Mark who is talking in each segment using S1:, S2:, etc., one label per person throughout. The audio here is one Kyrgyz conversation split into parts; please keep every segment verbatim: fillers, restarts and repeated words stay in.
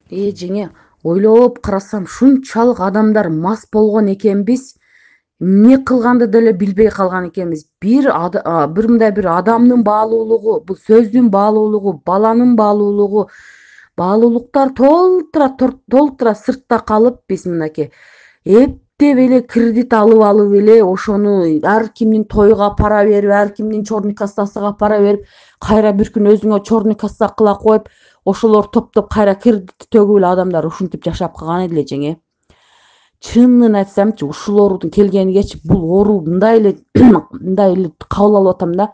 S1: Э жеңе, ойлоп карасам шунчалык адамдар мас болгон экенбиз, эмне кылганды деле билбей калган экенбиз. Бир ада- а, бир мындай бир адамдын баалуулугу, бул сөздүн баалуулугу, баланын баалуулугу, баалуулуктар толтура тор- толтура сыртта калып, биз мынакей эптеп эле кредит алып алып эле ошону ар кимдин тойго пара берип, ар кимдин черный кассасыга пара берип, кайра бир күн өзүңө черный касса кыла коюп, ошолор топтоп кайра кредитти төгүп эле адамдар ушинтип жашап калган эле жеңе. Чынын айтсамчы, ушулордун келгенигечи бул оору мындай эле мындай эле кабыл алып атам да.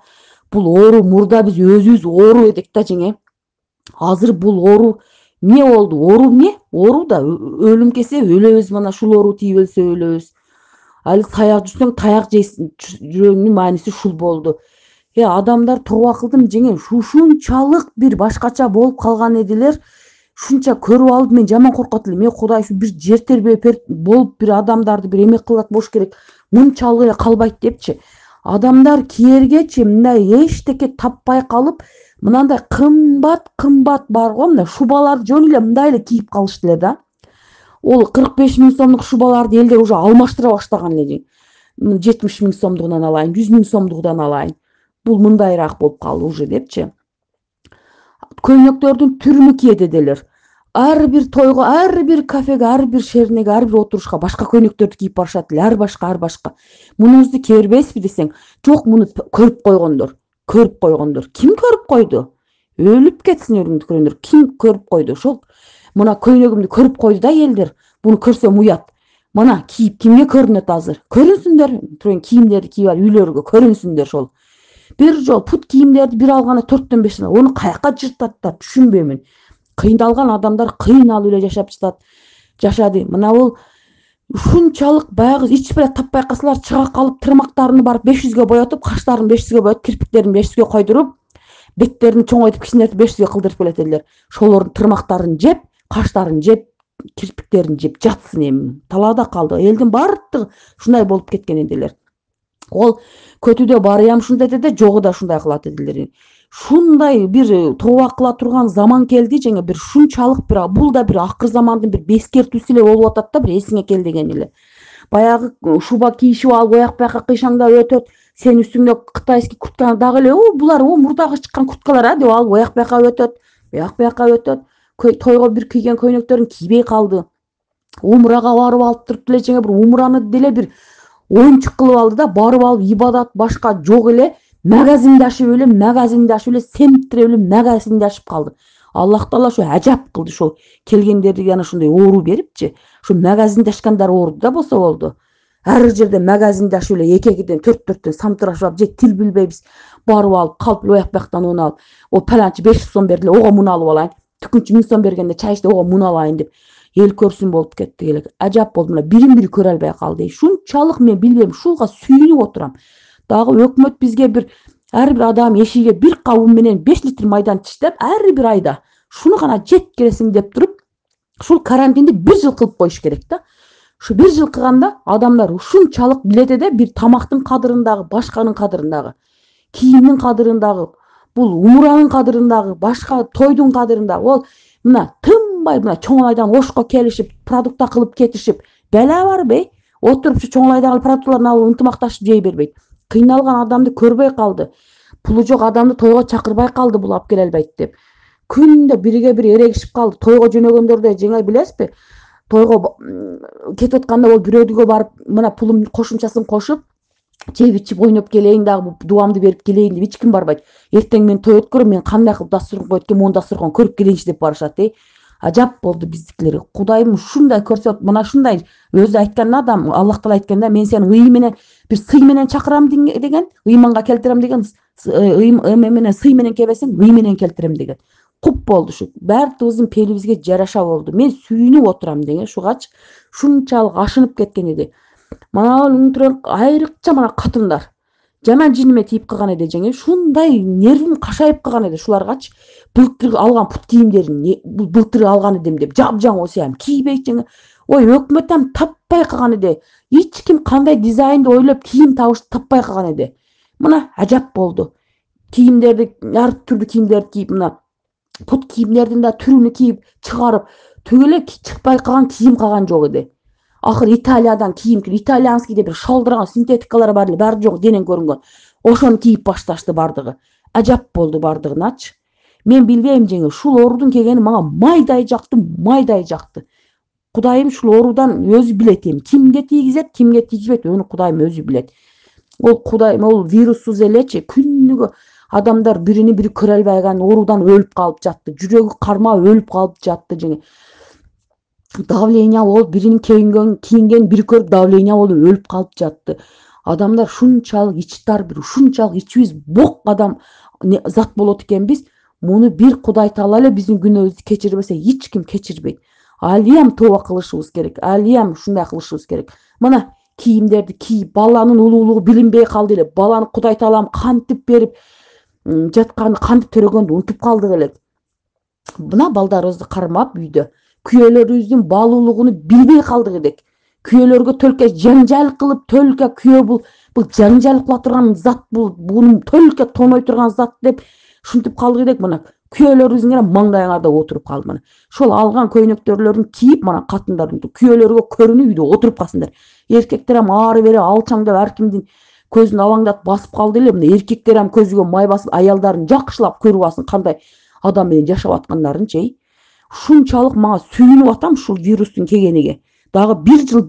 S1: Бул оору мурда биз өзүбүз оору эдик да жеңе. Азыр бул оору эмне болду? Оору эмне? Оору да ө- өлүм келсе өлөбүз, мына ушул оору тийип өлсө өлөбүз. Али таяк жесең таяк жейсиң, жүрөгүнүн мааниси ушул болду. Э адамдар тооба кылдым жеңе, ушунчалык бир башкача болуп калган эдилер. Ушунча көрүп алып мен жаман коркот элем. Э Кудай, ушу бир жер тербеп болуп бир адамдарды бир эме кылат болуш керек. Мынчалык эле калбайт депчи. Адамдар киергечи мындай эчтеке таппай калып, мынандай кымбат кымбат бар го, мына шубаларды жөн эле мындай эле кийип калышты эле да. Ол кырк беш миң сомдук шубаларды элдер уже алмаштыра баштаган эле жең. жетимиш миң сомдугунан алайын, жүз миң сомдугунан алайын. Бул мындайраак болуп калды уже депчи. Көйнөктөрдүн түрүнү киет эделер. Ар бир тойго, ар бир кафеге, ар бир шернеге, ар бир отурушка башка көйнөктөрдү кийип барышат эле. Ар башка, ар башка. Мунубузду кие бербейсизби десең, жок, муну көрүп койгондор. Көрүп койгондор. Ким көрүп койду? Өлүп кетсин өрүңдү көргөндөр. Ким көрүп койду? Ошол мына көйнөгүмдү көрүп койду да элдер. Буну көрсөм уят. Мына кийип кимге көрүнөт азыр? Көрүнсүндөр. Туруп кийимдерди кийип алып үйлөргө көрүнсүндөр ошол. Бир жол пут кийимдерди бир алганда төрттөн бештен ону каяка жыртаттар, түшүнбөймүн. Кыйналган адамдар кыйналып эле жашап жатат. Жашады. Мына бул ушунчалык баягы ич беле таппай калсалар чыга калып тырмактарын барып беш жүзгө боетип, каштарын беш жүзгө боетип, кирпиктерин беш жүзгө койдуруп, беттерин чоңойтуп кичинертип беш жүзгө кылдырып келет элдер. Ошолордун тырмактарын жеп, каштарын жеп, кирпиктерин жеп жатсын эми. Талаада калды. Элдин баардыгы ушундай болуп кеткен эдилер. Ол көтүдө барыям ушундай деди, жогу да ушундай кылат эдилер. Ушундай бир тооба кыла турган заман келди жеңе, бир шунчалык бир бул да бир акыр замандын бир бескертүүсү эле болуп атат да, бир эсиңе кел деген эле. Баягы шуба кийишип алып ояк бияка кыйшаңдап өтөт, сен үстүңдө кытайский куртканы дагы эле, о булар о мурдагы чыккан курткалар а деп алып ояк бияка өтөт, ояк бияка өтөт. Тойго бир кийген көйнөктөрүн кийбей калды. Умрага барып алып туруп деле жеңе, бир умраны деле бир оюнчук кылып алды да, барып алып ибадат башка жок эле, магазинди ашып эле, магазинди ашып эле, семиптирип эле магазинди ашып калды. Аллах Таала ошо ажап кылды, ошо келгендерге ana ушундай оору берипчи. Ошо магазинди ашкандар ооруду да болсо болду. Ар жерде магазинди ашып эле эки экиден төрт төрттөн самтырашып алып, же тил билбейбиз, барып алып калп ояк бияктан уну алып, о паланчы беш жүз сом берди эле, ого муну алып алайын. Түкүнчү миң сом бергенде чай ичти, ого муну алайын деп эл көрсүн болуп кетти элек. Ажап болду, мына бирин бири көрө албай калды. Шунчалык мен билбейм, ушуга сүйүнүп отурам. Дагы өкмөт бизге бир ар бир адам эшигине бир кап un менен беш литр майдан тиштеп, ар бир айда шуну гана жеп келесиң деп туруп, ушул карантинди бир жыл кылып коюш керек да. Ушу бир жыл кылганда адамдар ушунчалык билет эде, бир тамактын кадырын дагы, башканын кадырын дагы, кийимдин кадырын дагы, бул умуранын кадырын дагы, башка тойдун кадырын дагы. Ол мына тынбай мына чоңайдан ошко келишип, продукта кылып кетишип, бала барбы? Отуруп ушу чоңайдагы продуктларын алып ынтымакташып жей бербейт. Кыйналган адамды көрбөй калды. Пулу жок адамды тойго чакырбай калды, бул алып келе албайт деп. Күндө бириге бири эрегишип калды. Тойго жөнөгөндөрдө жеңе билесизби? Тойго кетип атканда ол бирөөдүгө барып, мына пулум кошумчасын кошуп, жеп ичип ойноп келейин дагы, дубамды берип келейин деп эч ким барбайт. Эртең мен той өткөрөм, мен кандай кылып дасторкон коет экен, мону дасторкон көрүп келейинчи деп барышат. Э ажап болду биздикилер. Кудайым ушундай көрсөт, мына ушундай өзү айткан адам, Аллах Таала айткан да, мен сени ый менен, бир сый менен чакырам деген, ыйманга келтирем деген, эме менен сый менен келбесең, ый менен келтирем деген. Куп болду ушу. Баардыгыбыздын пелибизге жараша болду. Мен сүйүнүп отурам деген ушугачы. Шунчалык ашынып кеткен эди. Мана айрыкча мана катындар жаман жиниме тийип калган эди жеңе. Ушундай нервим кашайып калган эди шуларгачы. Былтыр алган пут кийимдерин былтыр алган эдим деп жапжаң осуям кийбейт жеңе. Ой, өкмөт там таппай калган эди. Эч ким кандай дизайнды ойлоп кийим табышты таппай калган эди. Мына ажап болду. Кийимдерди, ар түрдүү кийимдерди кийип, мына пут кийимдердин да түрүнү кийип чыгарып, түгүл эле чыкпай калган кийим калган жок эди. Акыры Италиядан кийим, итальянский деп бир шалдырган синтетикалар бар эле, баары жок, денең көрүнгөн. Ошону кийип башташты бардыгы. Ажап болду бардыгыначы. Мен билбейм жеңе, ушул оорудун келгени мага майдай жакты, майдай жакты. Кудайым ушул оорудан өзү билет эми. Кимге тийгизет, кимге тийгизбейт, аны Кудайым өзү билет. Ол Кудайым ол вируссуз элечи күнүгө адамдар бирини бири көрө албай калган оорудан өлүп калып жатты. Жүрөгү кармап өлүп калып жатты жеңе. Давление болуп, биринин кийинген кийинген бири көрүп давление болуп өлүп калып жатты. Адамдар шунчалык ичтар, бир ушунчалык ичибиз бок адам зат болот экенбиз. Муну бир Кудай Таала эле биздин күнөөбүздү кечирбесе, эч ким кечирбейт. Алиям тооба кылышыбыз керек. Алиям ушундай кылышыбыз керек. Мына кийимдерди кийип, баланын улуулугу билинбей калды эле. Баланы Кудай Таалам кантип берип жатканды, кантип төрөгөндү унутуп калдык эле. Мына балдарыбызды кармап үйдө күйөөлөрүбүздүн баалуулугуну билбей калдык элек. Күйөөлөргө төлкө жаңжал кылып, төлкө күйөө бул бул жаңжал кыла турган зат, бул буну төлкө тоной турган зат деп ушинтип калдык элек. Мына күйөөлөрүбүздүн гана маңдайыңарда отуруп калды. Мына ошол алган көйнөктөрлөрүн кийип, мына катындардын күйөөлөргө көрүнүп үйдө отуруп калсындар. Эркектер ham ары бери алчаң деп ар кимдин көзүн алаңдатып басып калды эле. Мына эркектер ham көзүгө май басып, аялдарын жакшылап көрүп алсын кандай адам менен жашап аткандарынчы. Ушунчалык мага сүйүнүп атам ушул вирустун келгениге. Дагы бир жыл